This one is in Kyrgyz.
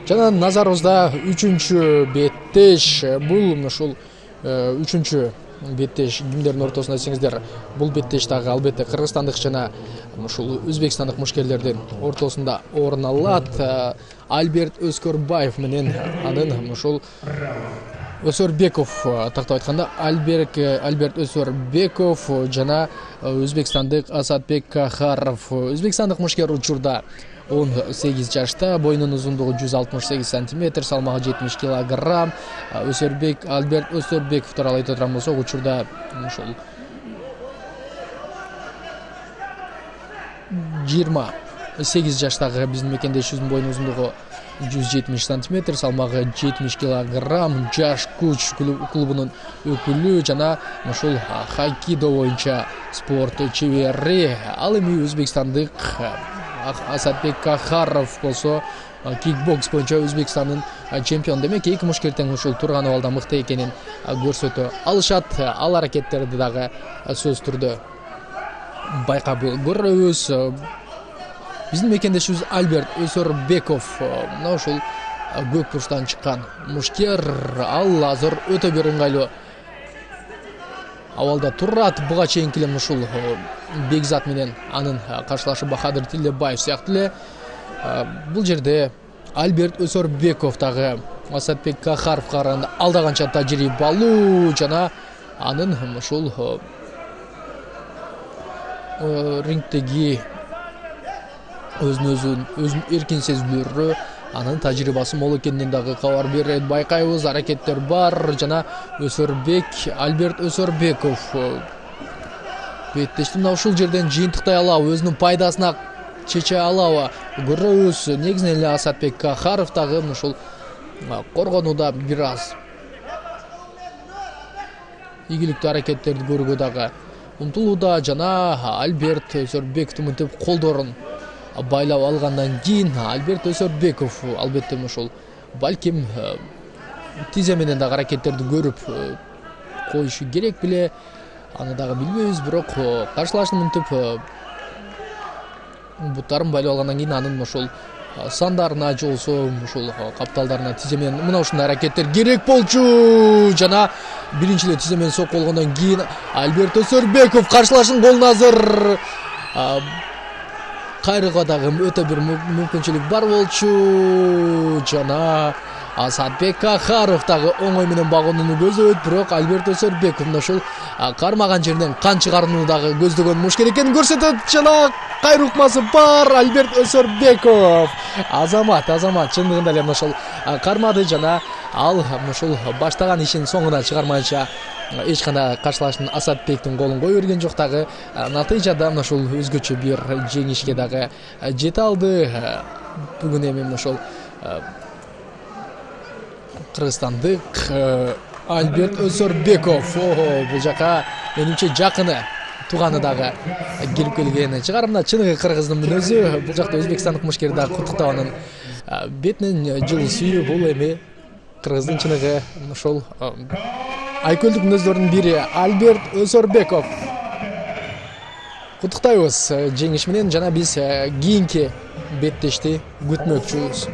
Жана назарыбызда 3-чү беттеш. Бул ушул 3-чү беттеш кимдердин ортосунда десеңиздер, бул беттеш дагы албетте кыргызстандык жана ушул өзбекстандык мушкерлердин ортосунда орун алат. Альберт Өзкөрбаев менен анын ушул Өсөрбеков, тактап айтканда Альберт Өсөрбеков жана өзбекстандык Асатбек Кахаров. Өзбекстандык мушкер учурда 18 жашта, боюнун узундугу 168 сантиметр, салмагы 70 килограмм. Альберт Өсөрбеков тууралуу айта турган болсок, учурда ушул 28 жаштагы биздин мекендешибиздин боюнун узундугу 170 сантиметр, салмагы 70 килограмм, жаш күч клубунун өкүлү жана ушул хайкидо боюнча спорт чебери. Ал эми өзбекстандык Асатбек Кахаров болсо кикбокс боюнча Өзбекстандын чемпиону. Демек эки мушкер тең ушул турган абалда мыкты экенин көрсөтө алышат. Ал аракеттерди дагы сөзсүз түрдө байкап көрөбүз. Биздин мекендешибиз Альберт Өсөрбеков мына ушул көк бурчтан чыккан мушкер. Ал азыр өтө бир ыңгайлуу абалда турат. Буга чейинки эле ушул Бекзат менен анын каршылашы Бахадыр Тилебаев сыяктуу эле бул жерде Альберт Өсөрбеков дагы Асатбек Кахаровго караганда алда канча тажрыйбалуу жана анын ушул рингдеги өзүн эркин сезүүлөрү, анын тажрыйбасы мол экенинен дагы кабар берет. Байкайбыз, аракеттер бар жана Альберт Өсөрбеков беттешти мына ушул жерден жыйынтыктай алабы, өзүнүн пайдасына чече алабы көрөбүз. Негизинен эле Асатбек Кахаров дагы ушул коргонууда бир аз ийгиликтүү аракеттерди көрүүгө дагы умтулууда жана Альберт Өсөрбековдун мынтип колдорун байлап алгандан кийин Альберт Өсөрбеков албетте ушул балким тизе менен дагы аракеттерди көрүп коюшу керек беле, аны дагы билбейбиз. Бирок каршылашын мынтип буттарын байлап алгандан кийин анын ушул сандарына же болбосо ушул капталдарына тизе менен мына ушундай аракеттер керек болчу жана биринчи эле тизе менен сокку болгондон кийин Альберт Өсөрбеков каршылашын колун азыр кайрууга дагы өтө бир мүмкүнчүлүк бар болчу жана Асатбек Кахаров дагы оңой менен багууну көздөйт. Бирок Альберт Өсөрбеков ушул кармаган жерден кан чыгарууну дагы көздөгөн мушкер экенин көрсөтөт жана кайруу ыкмасы бар. Альберт Өсөрбеков азамат чындыгында эле ушул кармады жана ал ушул баштаган ишин соңуна чыгармайынча эч кандай каршылашын Асатбектин колун кое берген жок. Дагы натыйжада ушул өзгөчө бир жеңишке дагы жете алды. Бүгүн эми ушул кыргызстандык Альберт Өсөрбеков бул жака менимче жакыны тууганы дагы кирип келген чыгар. Мына чыныгы кыргыздын мүнөзү. Бул жакта өзбекстандык мушкер дагы куттуктап анын бетинен жылуу сүйүү. Бул эми кыргыздын чыныгы ушул айкөлдүк мүнөздөрдүн бири Альберт Өсөрбеков. Куттуктайбыз жеңиш менен жана биз кийинки беттешти күтмөкчүбүз.